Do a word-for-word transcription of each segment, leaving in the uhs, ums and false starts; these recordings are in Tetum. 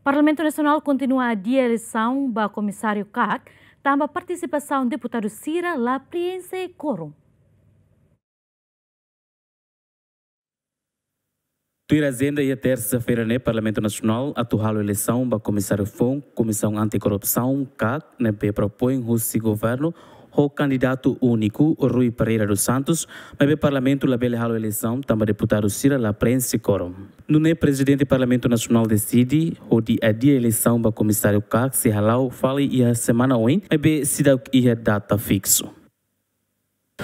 Parlamentu Nasionál kontinua adia eleisaun ba Komisáriu kak, tanba partisipasaun deputadu sira la prienxe kórum. Tuir ajenda iha tersa-feira ne'e, Parlamentu Nasionál atu halo eleisaun ba Komisáriu Foun Komisaun Anti-Korrupsaun kak, ne'ebé propoin husi governu ho kandidatu úniku Rui Pereira dos Santos, maibé Parlamentu labele halo eleisaun tanba deputadu sira la prienxe kórum. Nune'e Prezidente Parlamentu Nasionál deside hodi adia eleisaun ba Komisáriu kak sei hala'o fali iha semana oin, maibé seidauk iha data fiksu.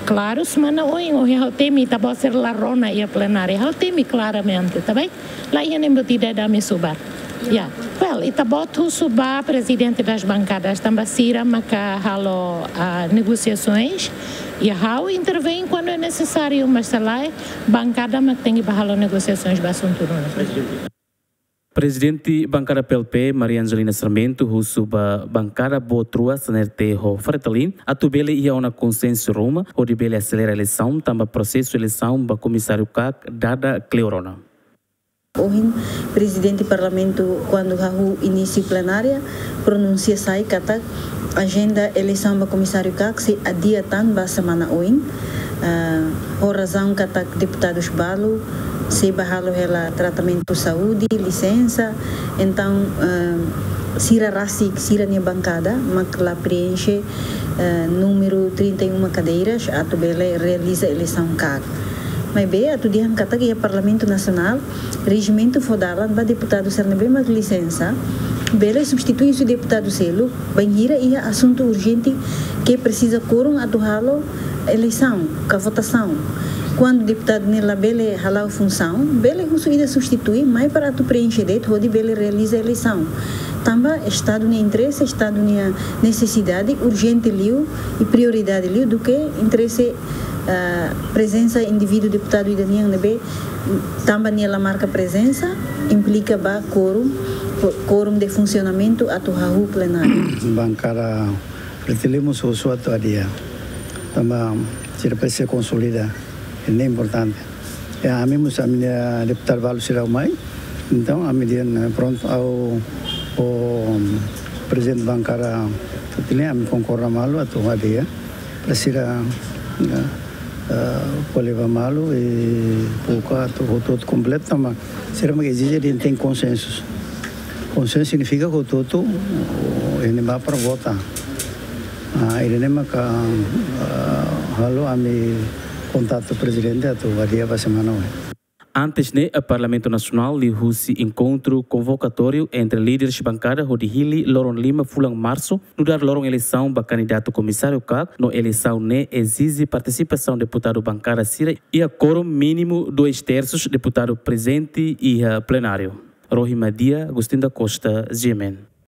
Klaru, semana oin, ohin ha'u temi ita-boot sira la rona iha plenária. Ha'u temi klaramente, tá bem? La iha nein buat ida ida ami subar. Ya. Well, ita-boot husu ba Prezidente das Bankadas, tanba sira maka halo, ah, negosiasoens. Ya, ha'u intervein kuandu é nesesáriu, mas se lae, bankada mak tenke bá halo negosiasoens ba asuntu ruma. Prezidente Bankada P L P, Maria Angelina Sarmento, husu ba bankada boot rua, C N R T ho Fretilin, atu bele iha ona konsensu ruma, hodi bele aselera eleisaun, tanba prosesu eleisaun ba Komisáriu kak dada kleur ona. Ohin, Prezidente Parlamentu, kuandu hahú inísiu plenária, pronunsia sai katak ajenda eleisaun ba Komisáriu kak sei adia tan ba semana oin, ah, ho razaun katak deputadus balu sei bá halo hela tratamentu saúde, lisensa. Entaun, ah, sira rasik, sira-nia bankada mak la prienxe, ah, númeru trinta e uma cadeiras atu bele realiza eleisaun kak. Maibé, atu dehan katak iha Parlamentu Nasionál, rejimentu fó dalan ba deputadu sira ne'ebé mak lisensa bele substitui husi deputadu seluk, bainhira iha asuntu urjente ke presiza kórum atu halo eleisaun ka votasaun. Kuandu deputadu ne'e labele hala'o funsaun, bele husu ida substitui, mai para atu prienxe de'it hodi bele realiza eleisaun. Tanba Estadu nia interese, Estadu nia nesesidade urjente liu i prioridade liu duké interese, ah, prezensa indivíduu deputadu ida nian ne'ebé tanba nia la marka prezensa, implika ba kórum, kórum de funsionamentu atu hahú plenária. Bankada Fretilin mós husu atu adia. Tanba sira presiza konsolida, ne'e importante. Ya, ami mós ami-nia deputadu balu seidauk mai. Entaun, ami dehan, eh, prontu, ha'u ho Prezidente Bankada Fretilin, ami konkorda malu atu adia. Para sira, eh, eh, ko'alia ba malu i buka atu hotu-hotu kompletu, tanba sira mak ezije dehan tenke konsensu. Konsensu signifika hotu-hotu, oh, iha ne'ebá para vota. Ah, ida-ne'e maka, ah, halo ami kontaktu Prezidente atu adia ba semana oin. Antes ne'e, Parlamentu Nasionál liuhusi enkontru konvokatóriu entre líderes bankada hodi hili loron lima fulan Marsu, nu'udar loron eleisaun ba kandidatu Komisáriu kak, no eleisaun ne'e ezije partisipasaun deputadu bankada sira iha kórum mínimu dois terços deputadu prezente iha plenáriu. Rohi Madia, Agostinho da Costa, G M N.